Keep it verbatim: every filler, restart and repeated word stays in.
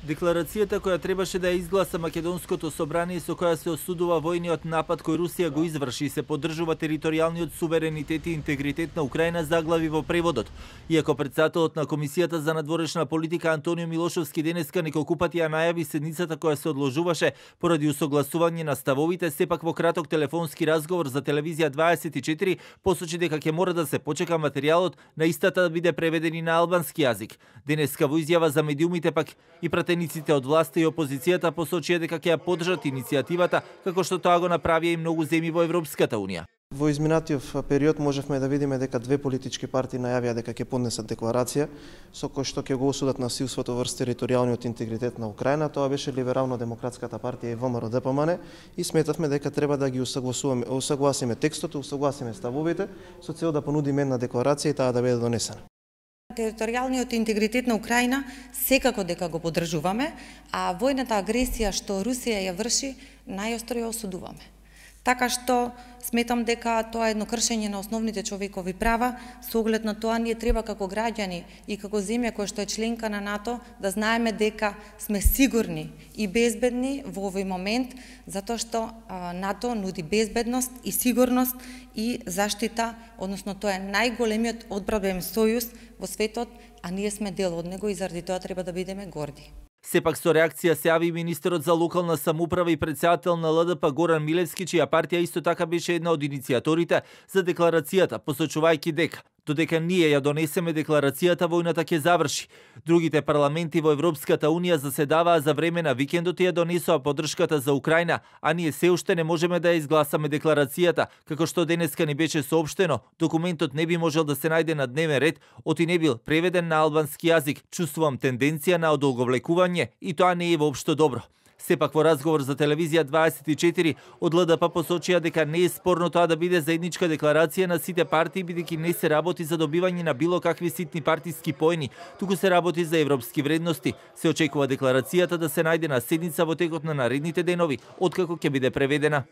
Декларацијата која требаше да ја изгласа Македонското собрание со која се осудува војниот напад кој Русија го изврши и се поддржува територијалниот суверенитет и интегритет на Украина заглави во преводот. Иако председателот на Комисијата за надворешна политика Антонио Милошовски денеска неколку пати ја најави седницата која се одложуваше поради усогласување на ставовите, сепак во краток телефонски разговор за телевизија дваесет и четири посочи дека ќе мора да се почека материјалот на истата да биде преведен и на албански јазик. Денеска во изјава за медиумите пак и пратениците од власта и опозицијата посочија дека ќе ја поддржат иницијативата, како што тоа го направија и многу земји во Европската унија. Во изминатиот период можевме да видиме дека две политички партии најавија дека ќе поднесат декларација со кој што ќе го осудат насилството врз територијалниот интегритет на Украина. Тоа беше Либерално-демократската партија и ВМРО Д П М Н и сметавме дека треба да ги усагласуваме, усагласиме текстот, усагласиме ставовите со цел да понудиме една декларација и таа да биде донесена. Територијалниот интегритет на Украина секако дека го поддржуваме, а војната агресија што Русија ја врши најостро ја осудуваме. Така што сметам дека тоа е едно кршење на основните човекови права, со оглед на тоа ние треба како граѓани и како земја која што е членка на НАТО да знаеме дека сме сигурни и безбедни во овој момент, затоа што НАТО нуди безбедност и сигурност и заштита, односно тоа е најголемиот одбранбен сојуз во светот, а ние сме дел од него и заради тоа треба да бидеме горди. Сепак со реакција се јави министерот за локална самоуправа и председател на Л Д П Горан Милевски, чија партија исто така беше една од иницијаторите за декларацијата, посочувајќи дека додека ние ја донесеме декларацијата, војната ќе заврши. Другите парламенти во Европската унија заседаваа за време на викендот и ја донесоа поддршката за Украина, а ние се уште не можеме да ја изгласаме декларацијата, како што денеска ни беше соопштено. Документот не би можел да се најде на дневен ред, оти не бил преведен на албански јазик. Чувствувам тенденција на одолговлекување и тоа не е воопшто добро. Сепак во разговор за телевизија дваесет и четири од Л Д П посочија дека не е спорно тоа да биде заедничка декларација на сите партии, бидејќи не се работи за добивање на било какви ситни партиски поени, туку се работи за европски вредности. Се очекува декларацијата да се најде на седница во текот на наредните денови, откако ќе биде преведена.